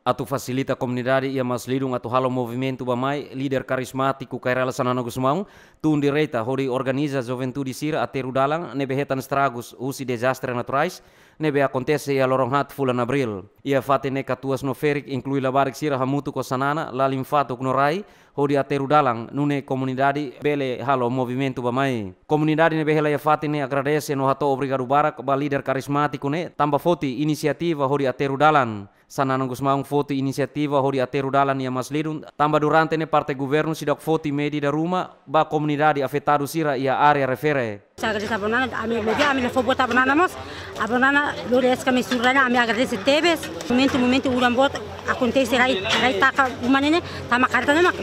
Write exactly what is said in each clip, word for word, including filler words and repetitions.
Atu fasilita komunidade iha Maslidung atu halo movimentu bá-mai, líder karizmátiku Kay Rala Xanana Gusmão tun direta hodi organiza juventude sira aterru dalan ne'ebé hetan estragus husi dezastre naturais ne'ebé akontese iha loron haat fulan Abríl. Iha fatin ne'e katuas no ferik, inklui labarik sira hamutuk ho Xanana, lalin fatuk no rai hodi aterru dalan nune'e komunidade bele halo movimentu bá-mai. Komunidade ne'ebé hela iha fatin ne'e agradese no hato'o obrigadu barak ba líder karizmátiku ne'e tanba foti inisiativa hodi aterru dalan. Xanana Gusmão foti inisiativa hodi aterru dalan iha Maslidung tanba durante ne'e parte governu seidauk foti medida ruma ba komunidade afetadu sira iha área refere. Ha'u agradese Abonana, ami, ami la fó buat Abonana mós. Abonana lori eska me sura, ami agradese tebes. Momentu, momentu udan boot akontese, rai, rai taka uma ne'e, tanba kareta ne'e mak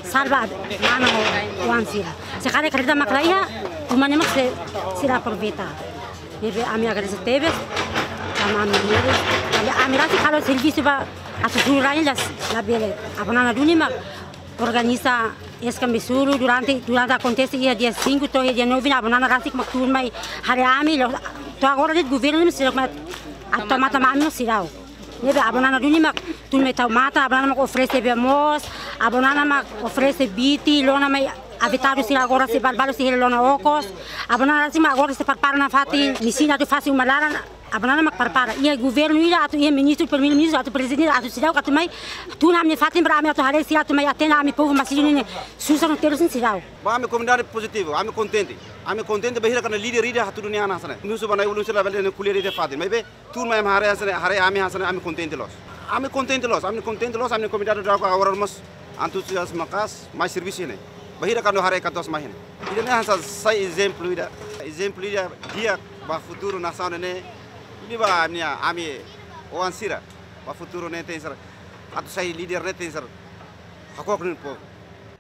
salva mana ho oan sira. Se kareta mak la iha, uma ne'e mak sei, sei la aproveita. Ne'ebé ami agradese tebes, tanba ami, ami, ami rasik halo servisu ba atu sura la, la bele. Abonana duni mak organiza eska me sura durante, durante akontese iha dia cinco to'o iha dia nove ne'e Abonana rasik mak tun mai haree ami, la'ós to'o agora de'it governu ne'e seidauk mai atu tau matan ami seidauk. Ne'ebé Abonana duni mak tun mai tau matan, Abonana mak oferese bee-moos, Abonana mak oferese biti, lona mai afetadu sira agora sei balbalu sei hela lona okos. Abonana rasik mak agora sei prepara nafatin, mesin atu fase uma laran, Abonana mak prepara. Iha governu ida atu iha ministru, primeiru-ministru atu prezidente atu seidauk atu mai tun ami-nia fatin para ami atu haree sira atu mai atende ami povu Maslidung ne'e susar no terus ne'e seidauk. Ba ami komunidade pozitivu, ami kontente. Ami kontente bainhira kuandu líder ida hatudu nia an hanesan ne'e. Nusu ba nai ulun sira bele ne'e ko'alia iha fatin. Maibé tun mai ami haree hanesan ne'e, haree ami hanesan ne'e, ami kontente loos. Ami kontente loos, ami kontente loos, ami komunidade daudauk agora mós antuziazmu maka'as, mai servisu ne'e. Bainhira kuandu haree katuas mai ne'e. Ida-ne'e hanesan sai ezemplu ida. Ezemplu ida di'ak ba futuru nasaun ne'e. Liuliu ba ami, ami oan sira. Ba futuru ne'e tenke ser. Atu sai líder ne'e tenke ser. Hakok nia povu.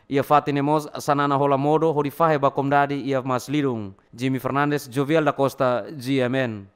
Iha fatin ne'e mós Xanana hola modo hodi fahe ba komunidade iha Maslidung. Jimmy Fernandes, Jovial da Costa, G M N.